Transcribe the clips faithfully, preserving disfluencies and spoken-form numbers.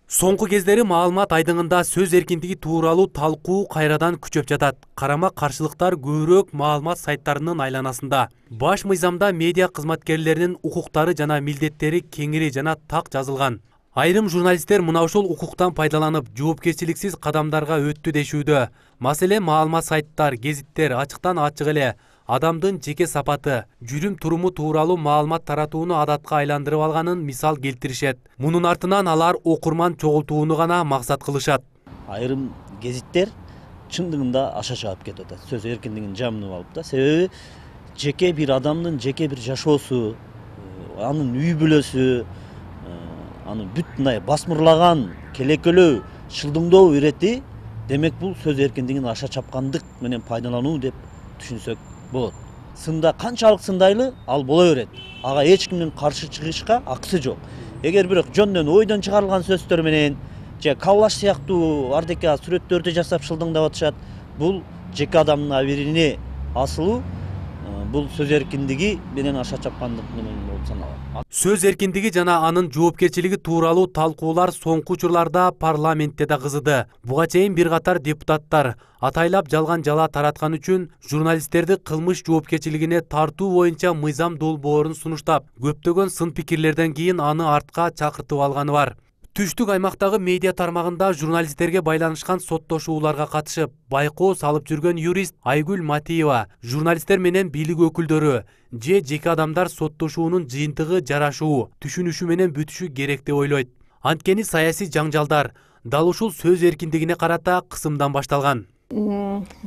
Соңку кездери маалымат айдыңында сөз эркиндиги тууралуу талкуу кайрадан күчөп жатат. Карама каршылыктар көбүрөөк маалымат сайттарынын айланасында. Баш мыйзамда медиа кызматкерлеринин укуктары жана милдеттери кеңири жана так жазылган. Айрым журналисттер мына ушул укуктан пайдаланып, жоопкерчиликсиз кадамдарга өттү дешүүдө. Маселе маалымат сайттар, гезиттер ачыктан ачык эле адамдын жеке сапаты, жүрүм туруму тууралуу маалымат таратууну адатка айландырып алганын мисал келтиришет. Мунун артынан алар окурман чогултууну гана максат кылышат. Айрым гезиттер чындыгында аша чаап кетип атат. Сөз эркиндигин жамынып алып да. Себеби жеке бир адамдын жеке бир жашоосу, анын үй бүлөсү, аны бүт мындай басмырлаган, келекелөө, шылдыңдоо ирети, демек бул сөз эркиндигин аша чапкандык менен пайдалануу деп түшүнсөк болот. Сында канчалык сындайлы ал боло берет. Ага эч кимдин каршы чыгышка акысы жок. Эгер бирок жөндөн ойдон чыгарылган сөздөр менен же коллаж сыяктуу ардека сүрөттөрдү жасап шылдыңдап атышат, бул жеке адамдын абирине асылуу, бул сөз эркиндиги менен аша чапкандык менен болуп саналат. Сөз эркиндиги жана анын жоопкерчилиги тууралуу талкуулар соңку учурларда парламентте да кызыды. Буга чейин бир катар депутаттар атайлап жалган жала тараткан үчүн журналисттерди кылмыш жоопкерчилигине тартуу боюнча мыйзам долбоорун сунуштап, көптөгөн сын пикирлерден кийин аны артка чакыртып алганы бар. Түштүк аймактагы медиа тармагында журналисттерге байланышкан соттошууларга катышып, байкоо салып жүргөн юрист Айгүл Матиева журналисттер менен бийлик өкүлдөрү же жеке адамдар соттошуунун жыйынтыгы жарашуу, түшүнүшү менен бүтүшү керек деп ойлойт. Анткени саясий жаңжалдар дал ушул сөз эркиндигине карата кысымдан башталган.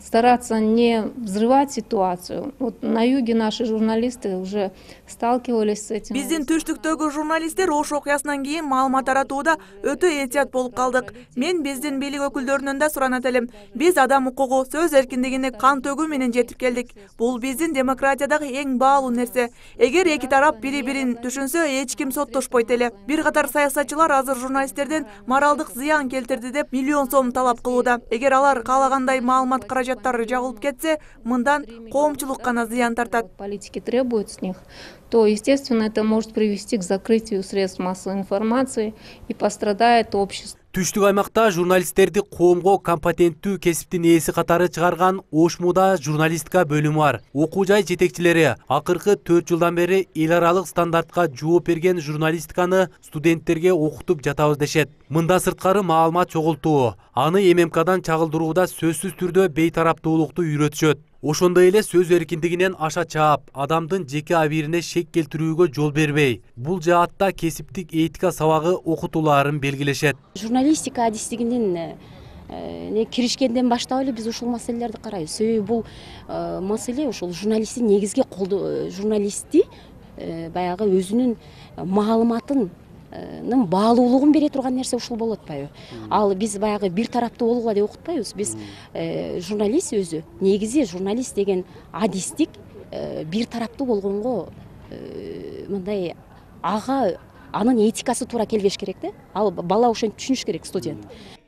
Стараться не взрывать ситуацию. Вот на юге наши журналисты уже сталкивались с этим. Биздин түштүктөгү журналисттер ош окуясынан кийин маалымат таратууда өтө этият болуп калдык. Мен биздин бийлик өкүлдөрүнөн да суранат элем. Биз адам укугу, сөз эркиндигине кан төгүү менен жетип келдик. Бул биздин демократиядагы эң баалуу нерсе. Эгер эки тарап бири-бирин түшүнсө, эч ким соттошпойт эле. Бир катар саясатчылар азыр журналисттерден моралдык зыян келтирди деп миллион сом талап кылууда. Эгер алар каалагандай маалымат каражаттары жабылып кетсе, мындан коомчулук гана зыян тартат. Политики требуют с них, то, естественно, это может привести к закрытию средств массовой информации и пострадает общество. Түштүк аймакта журналисттерди коомго компетенттүү кесиптин ээси катары чыгарган Ошмуда журналистика бөлүмү бар. Окуу жай жетекчилери акыркы төрт жылдан бери эл аралык стандартка жооп берген журналистиканы студенттерге окутуп жатабыз дешет. Мында сырткары маалымат чогултуу, аны эм эм кадан чагылдырууда сөзсүз түрдө бейтараптуулукту үйрөтүшөт. Ошондой эле сөз эркиндигинен аша чаап, адамдын жеке абирине шек келтирүүгө жол бербей, бул жаатта кесиптик этика сабагы окутууларын белгилешет. Журналистика адистигинин не киришкенден баштап эле биз ушул маселелерди карайбыз. Себеби бул маселе ушул журналисттин негизги колдоо журналистти баягы өзүнүн маалыматын баалуулугун бере турган нерсе ушул болуп атпайбы? Ал биз баягы бир тараптуу болгула деп окутпайбыз. Биз журналист өзү, негизи журналист деген адистик бир тараптуу болгонго мындай ага анын этикасы туура келбеш керек да. Ал бала ошентип түшүнүш керек, студент.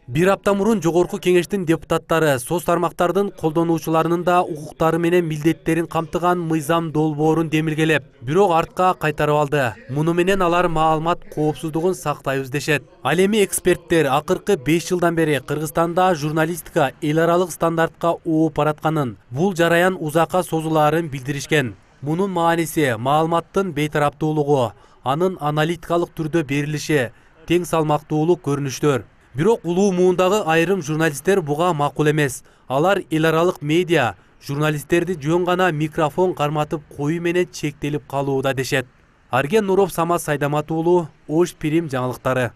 Бир апта мурун жогорку кеңештин депутаттары соц тармактардын колдонуучуларынын да укуктары менен милдеттерин камтыган мыйзам долбоорун демилгелеп, бирок артка кайтарып алды. Муну менен алар маалымат коопсуздугун сактайбыз дешет. Ал эми эксперттер акыркы беш жылдан бери Кыргызстанда журналистика эл аралык стандартка ооп баратканын, бул жараян узакка созулаарын билдиришкен. Мунун мааниси маалыматтын бейтараптуулугу, анын аналитикалык түрдө берилиши, тең салмактуулук көрүнүштөр. Бирок улуу муундагы айрым журналисттер буга макул эмес. Алар эл аралык медиа журналисттерди жөн гана микрофон карматып коюу менен чектелип калууда дешет. Арген Нуров, Самат Сайдамат уулу, Ош Пирим жаңылыктары.